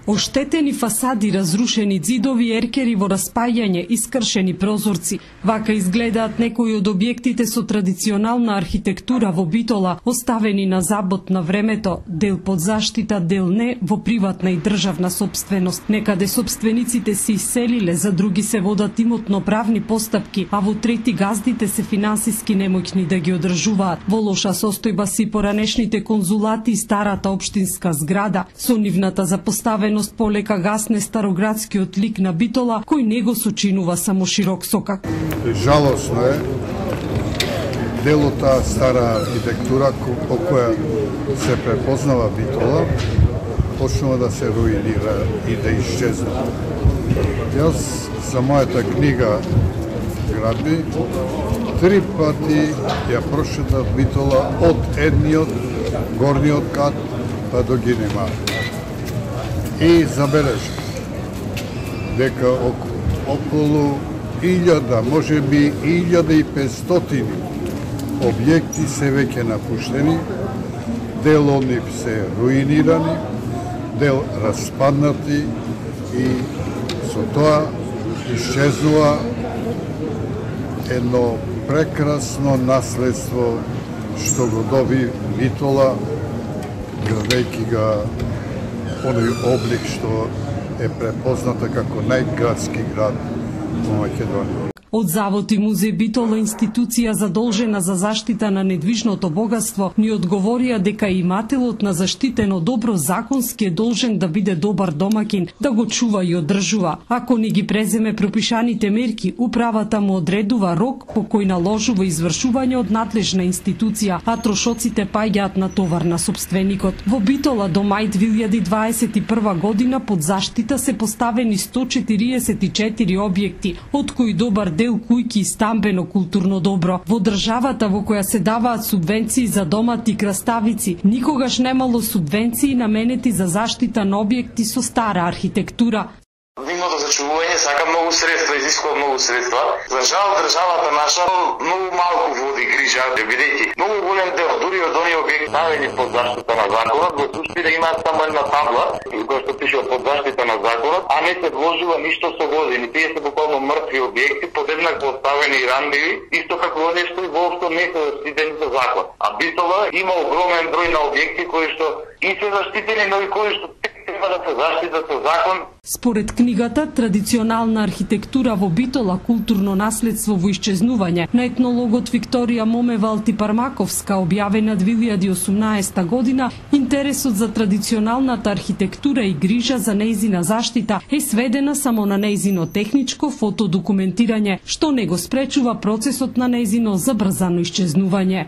Оштетени фасади, разрушени ѕидови, еркери во распајање, искршени прозорци. Вака изгледаат некои од објектите со традиционална архитектура во Битола, оставени на забот на времето, дел под заштита, дел не, во приватна и државна собственост. Некаде собствениците се иселиле, за други се водат имотно-правни постапки, а во трети газдите се финансиски немоќни да ги одржуваат. Во лоша состојба си поранешните конзулати и старата општинска зграда. Со нивната запоставеност полека гасне староградскиот лик на Битола, кој не го сочинува само широк сокак. Жалосно е делота стара архитектура по која се препознава Битола, почнува да се руинира и да исчезна. Јас за мојата книга Градби 3 пати ја прошетав Битола од едниот горниот кат па до Гинема. И забележка дека околу 1000, можеби 1500 објекти се веќе напуштени, дел од нив се руинирани, дел распаднати и со тоа исчезнува едно прекрасно наследство што го доби Битола, градејќи ga оној облик што е препозната како најградски град во Македонија. Од Завод и музеј Битола, институција задолжена за заштита на недвижното богатство, ни одговорија дека имателот на заштитено добро законски е должен да биде добар домакин, да го чува и одржува. Ако не ги преземе пропишаните мерки, управата му одредува рок по кој наложува извршување од надлежна институција, а трошоците паѓаат на товар на собственикот. Во Битола до мај 2021 година под заштита се поставени 144 објекти, од кои добар дел кујки и стамбено културно добро. Во државата во која се даваат субвенции за домати и краставици, никогаш немало субвенции наменети за заштита на објекти со стара архитектура. Нивното зачувување сака многу средства, изискува многу средства. За жал државата наша многу малку води грижа, бидејќи многу голем дел, дури од оние објекти ставени под заштита на законот, го пушти да имаат само една табла, која што пише под заштита на законот, а не се вложува ништо со години. Тие се буквално мртви објекти, подеднакво оставени и ранливи, исто како оние што и воопшто не се заштитени со закон. А Битола има огромен број на објекти кои што и се заштитени, но и кои што треба да се заштитат со закон. Според книгата Традиционална архитектура во Битола, културно наследство во исчезнување, на етнологот Викторија Момева Алтипармаковска, објавена 2018 година, интересот за традиционалната архитектура и грижа за нејзина заштита е сведена само на нејзино техничко фотодокументирање, што не го спречува процесот на нејзино забрзано исчезнување.